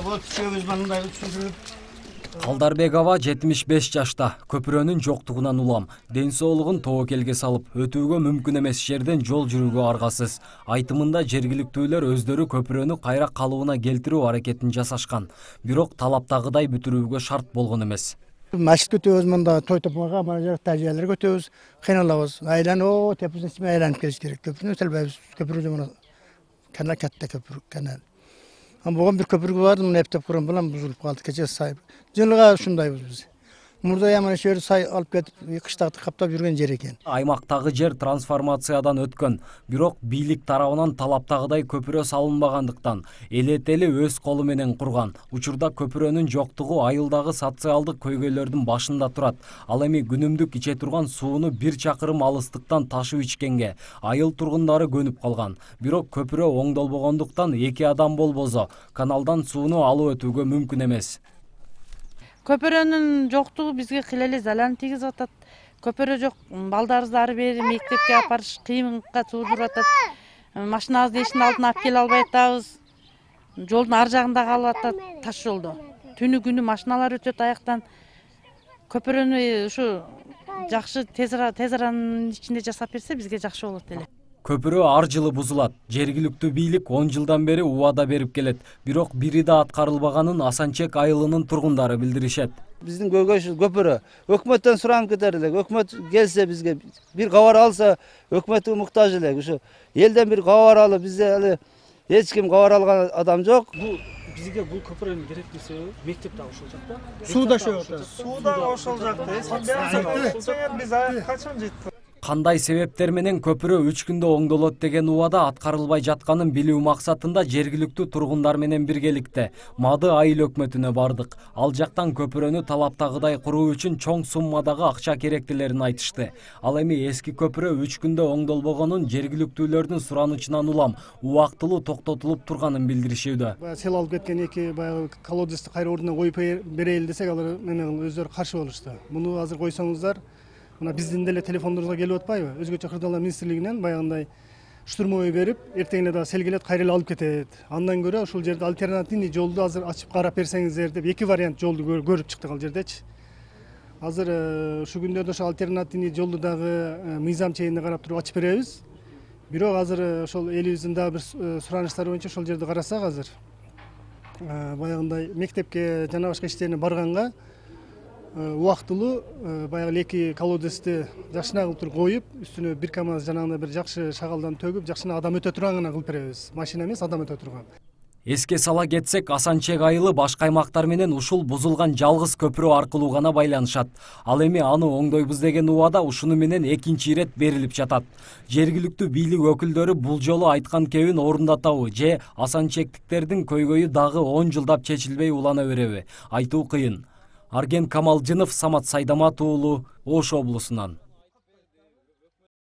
Вот үшөөбүз мындай түшүндүрүп. Калдарбекова 75 жашта. Көпүрөнүн жоктугунан улам. Ден соолугун тобокелге салып, өтүүгө мүмкүн эмес жерден жол жүрүүгө аргасыз. Айтымында жергиликтүүлөр өздөрү көпүрөнү кайра калыбына келтирүү аракетин жасашкан. Бирок талаптагыдай бүтүрүүгө шарт болгон эмес. Машык көтөбүз мында той топмага, мына жакта жерлер көтөбүз, кыйналабыз. Айланып, тепесин ичиме айланып келиш керек. Көпүрөнү өтөлбөйбүз. Көпүрө мына канал катта көпүр канал. Бugün bir köprü vardı, bunu hep kuran bulan buzulup kaldı. Keçe sahip. Жылга ушундайбыз биз. Мурда яман шер сай алып кетип, кыштакты каптап жүргөн жер экен. Аймактагы жер трансформациядан өткөн, бирок бийлик тарабынан талаптагыдай көпүрө салынбагандыктан элетели өз колу менен курган. Учурда көпүрөнүн жоктугу айылдагы социалдык көйгөйлөрдүн башында турат. Ал эми күнүмдүк иче турган сууну 1 чакырым алыстыктан ташып ичкенге айыл тургундары көнүп калган. Бирок көпүрө оңдолбогондуктан 2 адам болбосо каналдан сууну алып өтүүгө мүмкүн эмес. Көпүрөнүн жоктугу бизге кыйла залал тийгизип атат. Көпүрө жок, балдарыбызды ары бери мектепке апарыш кыйынга туудуруп атат. Машинабызды эшиктин алдына алып келе албай атабыз. Жолдун ар жагында калып атат, таш жолдо. Түнү күнү машиналар өтөт аяктан. Көпүрөнү ушу жакшы тез аранын ичинде жасап берсе бизге жакшы болот эле. Көпүрө ар жылы бузулат. Жергиликтүү бийлик 10 жылдан бери убада берип келет. Бирок бири да аткарылбаганын Асанчек айылынын тургундары билдиришет. Биздин көйгөйүбүз көпүрө. Өкмөттөн суранып кетер элек. Өкмөт келсе бизге бир кабар алса, өкмөткө муктаж элек. Ушу элден бир кабар алып, бизде эле эч ким кабар алган адам жок. Бизге бул көпүрөнүн керектүү себеби мектеп да ошол жакта. Суу да ошол жакта. Суу да ошол жакта. Биз качан жеттик? Кандай себептер менен көпүрө 3 күндө оңдолот деген убада аткарылбай жатканын билүү максатында жергиликтүү тургундар менен биргеликте Мады айыл өкмөтүнө бардык. Ал жактан көпүрөнү талаптагыдай куруу үчүн чоң суммадагы акча керектелерин айтышты. Ал эми эски көпүрө 3 күндө оңдолбогонун жергиликтүүлөрдүн суранычынан улам убактылуу токтотулуп турганын билдиришүүдө. Сел алып кеткен эки баягы колодезди кайра ордуна коюп берели десек, алар менен өздөрү каршы болушту. Муну азыр койсоңуздар, мына биздин деле телефондорубузга келип атпайбы? Өзгөчө Кырдаалар министрлигинен баягындай штурмовой берип, эртең эле дагы сел келет, кайра эле алып кетет. Андан көрө ушул жерде альтернативный жолду азыр ачып карап берсеңиздер деп 2 вариант жолду көрүп чыктык ал жердечи. Азыр ушу күндөрдө ошол альтернативный жолду дагы мыйзам чегинде карап туруп ачып беребиз. Бирок азыр ошол элибиздин дагы бир сураныштары боюнча ошол жерди карасак, азыр баягындай мектепке жана башка иштерине барганга убактылуу баягы эки колодезди жакшына кылып туруп коюп, үстүнө 1 КАМАЗ жанагындай бир жакшы шагалдан төгүп, жакшына адам өтө турган гана кылып беребиз. Машина эмес, адам өтө турган. Эске сала кетсек, Асанчек айылы башка аймактар менен ушул бузулган жалгыз көпүрө аркылуу гана байланышат. Ал эми аны оңдойбуз деген убада ушуну менен экинчи ирет берилип жатат. Жергиликтүү бийлик өкүлдөрү бул жолу айткан кебин орундатабы же Асанчектиктердин көйгөйү дагы 10 жылдап чечилбей улана береби? Айтуу кыйын. Арген Камалжынов, Самат Сайдамат уулу, Ош облусунан.